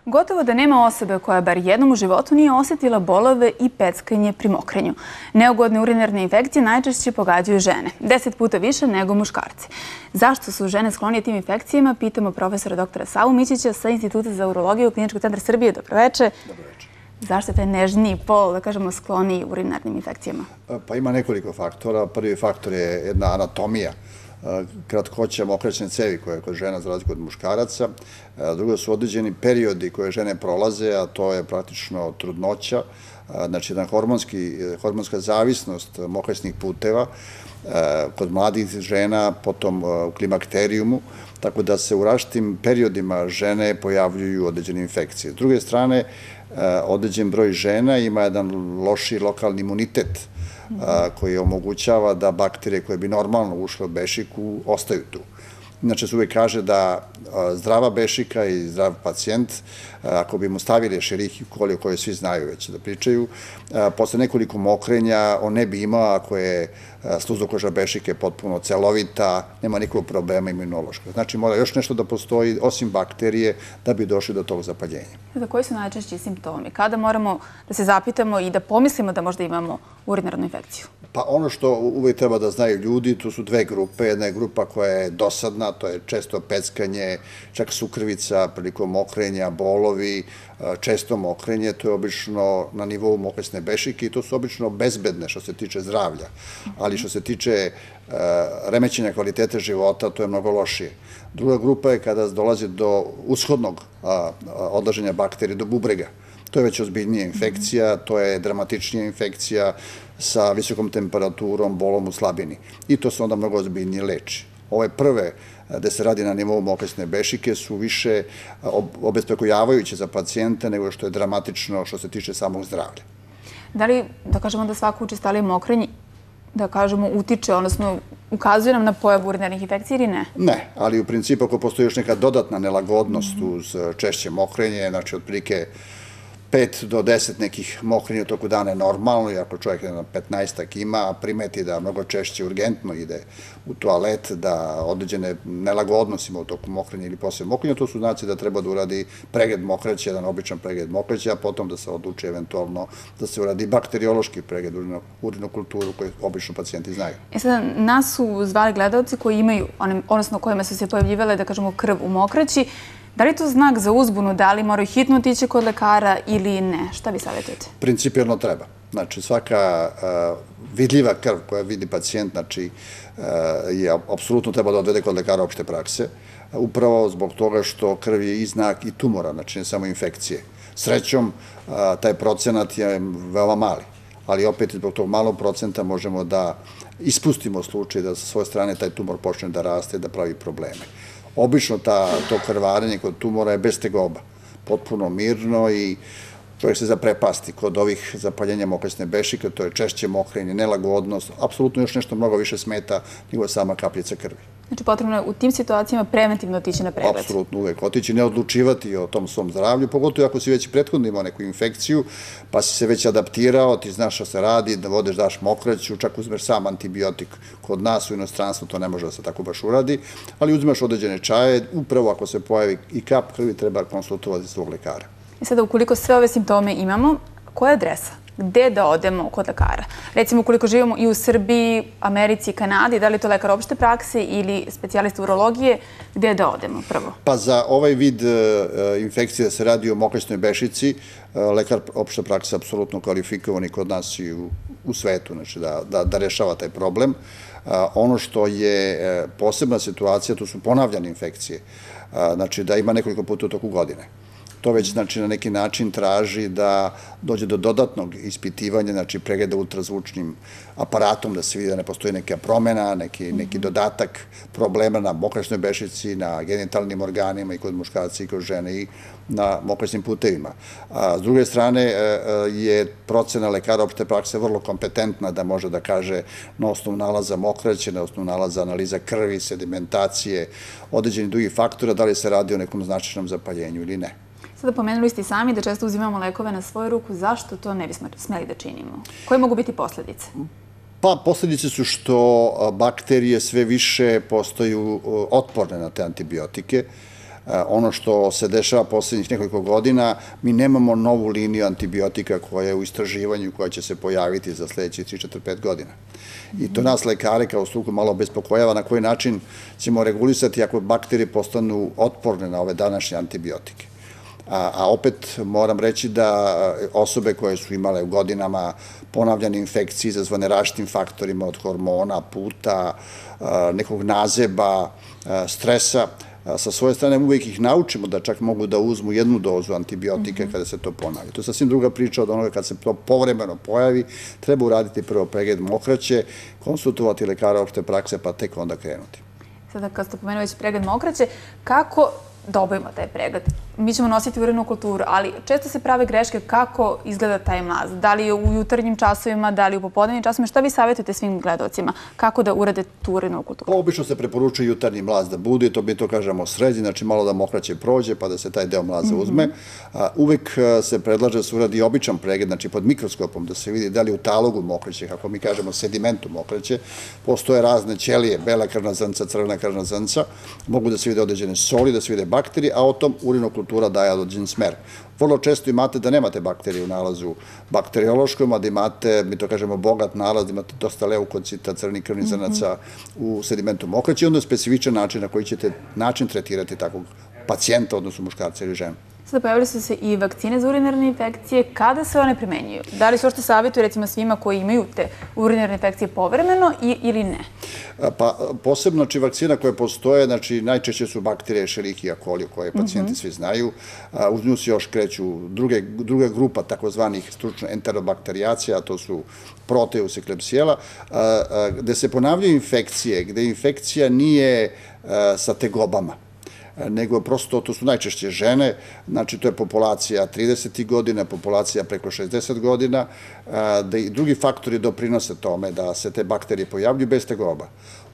Gotovo da nema osobe koja bar jednom u životu nije osjetila bolove i peckanje pri mokrenju. Neugodne urinarne infekcije najčešće pogađaju žene, 10 puta više nego muškarci. Zašto su žene sklonije tim infekcijama, pitamo profesora dr. Savu Mićića sa Instituta za urologiju Kliničkog centra Srbije. Dobroveče. Dobroveče. Zašto je taj nežniji pol, da kažemo, skloniji urinarnim infekcijama? Pa ima nekoliko faktora. Prvi faktor je jedna anatomija, kratkoća mokraćne cevi koja je kod žena za razliku od muškaraca. Drugo su određeni periodi koje žene prolaze, a to je praktično trudnoća, znači jedna hormonska zavisnost mokraćnih puteva kod mladih žena, potom u klimakterijumu, tako da se u različitim periodima žene pojavljuju određene infekcije. S druge strane, određen broj žena ima jedan loši lokalni imunitet koji omogućava da bakterije koje bi normalno ušle u bešiku ostaju tu. Inače se uvek kaže da zdrava bešika i zdrav pacijent, ako bi mu stavili Escherichia coli o kojoj svi znaju već da pričaju, posle nekoliko mokrenja on ne bi imao ako je sluzokoža bešike potpuno celovita, nema nikakvog problema imunološkog. Znači mora još nešto da postoji osim bakterije da bi došli do tog zapaljenja. Koji su najčešći simptomi? Kada moramo da se zapitamo i da pomislimo da možda imamo urinarnu infekciju? Pa ono što uvek treba da znaju ljudi, tu su dve grupe. Jedna je grupa koja je dosadna, to je često peckanje, čak sukrvica prilikom mokrenja, bolovi, često mokrenje, to je obično na nivou mokraćne bešike i to su obično bezbedne što se tiče zdravlja, ali što se tiče remećenja kvalitete života, to je mnogo lošije. Druga grupa je kada dolazi do ushodnog odlaženja bakterije, do bubrega. To je već ozbiljnija infekcija, to je dramatičnija infekcija sa visokom temperaturom, bolom u slabini. I to se onda mnogo ozbiljnije leči. Ove prve, gde se radi na nivou mokraćne bešike, su više obespekujavajuće za pacijente nego što je dramatično što se tiče samog zdravlja. Da li, da kažemo da svako učestalije mokrenje, da kažemo, utiče, odnosno ukazuje nam na pojavu urinarnih infekcija ili ne? Ne, ali u principu ako postoji još neka dodatna nelagodnost uz češće mokrenje, znači otprilike 5 do 10 nekih mokrenja u toku dana je normalno i ako čovjek na 15-ak ima, a primeti da mnogo češće urgentno ide u toalet, da određene nelagodnosti ima u toku mokrenja ili posle mokrenja, to su znaci da treba da uradi pregled mokraće, jedan običan pregled mokraće, a potom da se odluči eventualno da se uradi bakteriološki pregled urinokulturu koju obično pacijenti znaju. Sada, nas su zvali gledalci koji imaju, odnosno kojima su se pojavljivale, da kažemo, krv u mokraći. Da li je to znak za uzbunu, da li moraju hitno otići kod lekara ili ne? Šta vi savjetujete? Principijalno treba. Znači, svaka vidljiva krv koja vidi pacijent, znači, je apsolutno treba da odvede kod lekara opšte prakse, upravo zbog toga što krv je i znak i tumora, znači ne samo infekcije. Srećom, taj procenat je veoma mali, ali opet zbog tog malog procenta možemo da ispustimo slučaj da sa svoje strane taj tumor počne da raste i da pravi probleme. Obično to krvarenje kod tumora je bez tegoba, potpuno mirno i čovjek se zaprepasti kod ovih zapaljenja mokraćne bešike, to je češće mokrenje, nelagodnost, apsolutno još nešto mnogo više smeta nego sama kapljica krvi. Znači potrebno je u tim situacijama preventivno otići na pregled? Apsolutno uvek otići, ne odlučivati o tom svom zdravlju, pogotovo ako si već prethodno imao neku infekciju, pa si se već adaptirao, ti znaš šta se radi, da vodeš, daš mokraću, čak uzmeš sam antibiotik. Kod nas u inostranstvu to ne može da se tako baš uradi, ali uzmeš određene čaje, upravo ako se pojavi i kap krvi treba konsultovati svog lekara. I sada, ukoliko sve ove simptome imamo, koja je adresa? Gde da odemo kod lekara? Recimo, ukoliko živimo i u Srbiji, Americi i Kanadi, da li je to lekar opšte prakse ili specijalista urologije, gde da odemo prvo? Pa za ovaj vid infekcije da se radi o mokraćnoj bešici, lekar opšte prakse je apsolutno kvalifikovan i kod nas i u svetu, znači da rešava taj problem. Ono što je posebna situacija, to su ponavljane infekcije, znači da ima nekoliko puta u toku godine. To već znači na neki način traži da dođe do dodatnog ispitivanja, znači pregleda ultrazvučnim aparatom, da se vidi da ne postoji neka promena, neki dodatak problema na mokraćnoj bešici, na genitalnim organima i kod muškarca i kod žene i na mokraćnim putevima. S druge strane je procena lekara opšte prakse vrlo kompetentna da može da kaže na osnovu nalaza mokraće, na osnovu nalaza analiza krvi, sedimentacije, određenih drugih faktora, da li se radi o nekom značajnom zapaljenju ili ne. Sada pomenuli ste i sami da često uzimamo lekove na svoju ruku. Zašto to ne bismo smeli da činimo? Koje mogu biti posledice? Pa, posledice su što bakterije sve više postaju otporne na te antibiotike. Ono što se dešava poslednjih nekoliko godina, mi nemamo novu liniju antibiotika koja je u istraživanju, koja će se pojaviti za sledećih 3, 4, 5 godina. I to nas lekare kao struku malo bespokojava na koji način ćemo regulisati ako bakterije postanu otporne na ove današnje antibiotike. A opet moram reći da osobe koje su imale u godinama ponavljane infekcije izazvane različitim faktorima od hormona, puta, nekog nazeba, stresa, sa svoje strane uvijek ih naučimo da čak mogu da uzmu jednu dozu antibiotika kada se to ponavlja. To je sasvim druga priča od onoga kad se to povremeno pojavi, treba uraditi prvo pregled mokraće, konsultovati lekara opšte prakse pa tek onda krenuti. Sada kad ste pomenuli već pregled mokraće, kako da obavimo taj pregled? Mi ćemo nositi urinnu kulturu, ali često se prave greške kako izgleda taj mlaz. Da li je u jutarnjim časovima, da li u popodnevnim časovima. Šta vi savjetujete svim gledalcima? Kako da urade tu urinnu kulturu? Obično se preporučuje jutarnji mlaz da bude, to mi to kažemo srednji, znači malo da mokraće prođe pa da se taj deo mlaza uzme. Uvek se predlaže da se uradi običan pregled, znači pod mikroskopom, da se vidi da li u talogu mokraće, kako mi kažemo sedimentu mokraće, postoje razne ćelije, bela krvna zrnca, crvena krvna zrnca, mogu da se vide određene soli, da se vide bakterije, a o tom urinna kultura daje određen smer. Vrlo često imate da nemate bakterije u nalazu bakteriološkom, a da imate, mi to kažemo, bogat nalaz, da imate dosta leukocita, crvenih krvnih zrnaca u sedimentu mokraće i onda je specifičan način na koji ćete tretirati takvog pacijenta, odnosno muškarca ili ženu. Sada pojavili su se i vakcine za urinarne infekcije. Kada se one primenjuju? Da li se ošte savjetuje recimo svima koji imaju te urinarne infekcije povremeno ili ne? Pa posebno, znači, vakcina koje postoje, znači, najčešće su bakterije Escherichia coli, koje pacijenti svi znaju. Uz nju se još kreću druga grupa takozvanih stručno enterobakterijacija, a to su Proteus i Klebsiella, gde se ponavljaju infekcije, gde infekcija nije sa tegobama, nego prosto to su najčešće žene, znači to je populacija 30 godina, populacija preko 60 godina, da i drugi faktori doprinose tome da se te bakterije pojavljuju bez tegoba.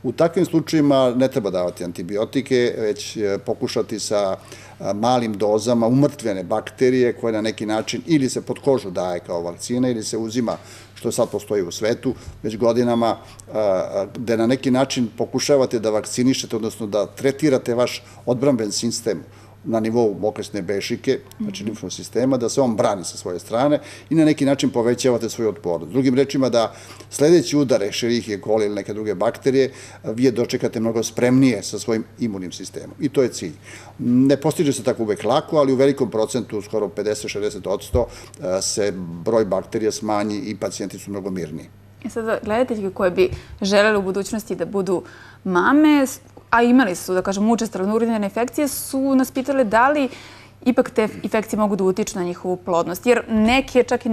U takvim slučajima ne treba davati antibiotike, već pokušati sa malim dozama umrtvljene bakterije koje na neki način ili se pod kožu daje kao vakcina ili se uzima, što sad postoji u svetu, već godinama, gde na neki način pokušavate da vakcinišete, odnosno da tretirate vaš odbramben sistem na nivou mokresne bešike, znači limfnog sistema, da se on brani sa svoje strane i na neki način povećavate svoju otpornost. Drugim rečima da sledeći udar Escherichia coli ili neke druge bakterije vi je dočekate mnogo spremnije sa svojim imunim sistemom. I to je cilj. Ne postiže se tako uvek lako, ali u velikom procentu, skoro 50-60%, se broj bakterija smanji i pacijenti su mnogo mirniji. Sada, gledateljke koje bi želele u budućnosti da budu mame, a imali su, da kažem, učestvovale urinarne infekcije, su nas pitale da li ipak te infekcije mogu da utiču na njihovu plodnost. Jer neke čak i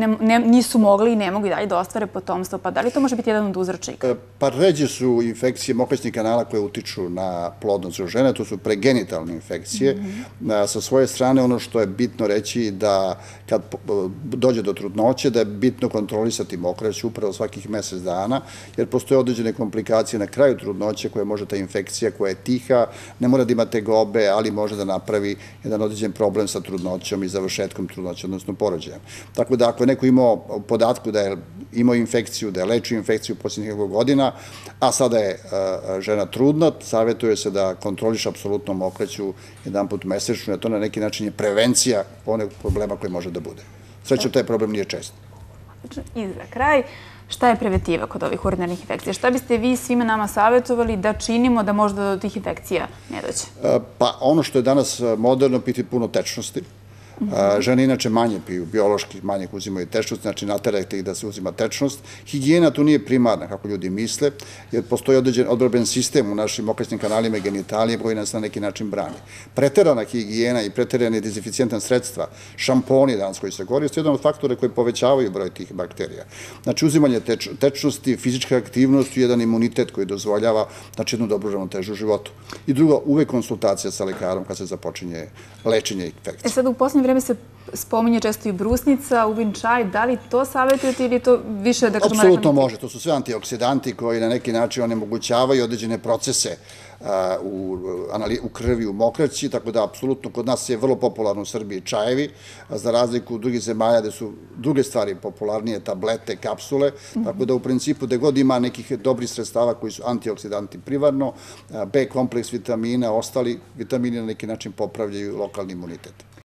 nisu mogli i ne mogu i dalje da ostvare potomstvo. Pa da li to može biti jedan od uzročnika? Pa ređe su infekcije mokraćnih kanala koje utiču na plodnost u žene. To su pregenitalne infekcije. Sa svoje strane ono što je bitno reći da kad dođe do trudnoće da je bitno kontrolisati mokrać upravo svakih mesec dana, jer postoje određene komplikacije na kraju trudnoće koje može ta infekcija koja je tiha, ne mora da ima tegobe, ali može da napravi jedan određen problem sa trudnoćom i završetkom trudnoće, odnosno porođajem. Tako da ako je neko imao podatku da je imao infekciju, da je lečio infekciju posljednjih nekog godina, a sada je žena trudna, savjetuje se da kontroliš apsolutno mokraću jedan put mesečno, jer to na neki način je prevencija onog problema koji može da bude. Srećom, taj problem nije čest. I za kraj, šta je preventiva kod ovih urinarnih infekcija? Šta biste vi svima nama savjetovali da činimo da možda do tih infekcija ne dođe? Pa ono što je danas moderno, piti puno tečnosti. Žene inače manje piju, biološki manje uzimaju tečnost, znači naterajte ih da se uzima tečnost. Higijena tu nije primarna, kako ljudi misle, jer postoji određen odbramben sistem u našim mokraćnim kanalima i genitalijama koji nas na neki način brani. Preterana higijena i preterane dezinficijentan sredstva, šamponi danas koji se koriste, jedan od faktora koji povećavaju broj tih bakterija. Znači uzimanje tečnosti, fizička aktivnost i jedan imunitet koji dozvoljava jednu dobru ravnotežu u životu. I drugo, uvek konsultacija sa lekarom kad se započinje lečenje infekcije. Sada u posljednje vreme se spominje često i brusnica, uvin čaj. Da li to savjetujete ili to više, da kažemo... Apsolutno može. To su sve antioksidanti koji na neki način onemogućavaju određene procese u krvi, u mokraći, tako da apsolutno kod nas je vrlo popularno u Srbiji čajevi, za razliku od drugih zemalja gde su druge stvari popularnije, tablete, kapsule, tako da u principu gde god ima nekih dobrih sredstava koji su antioksidanti primarno, B kompleks vitamina, ostali vitamini na neki način popravljaju lokalni imunitet.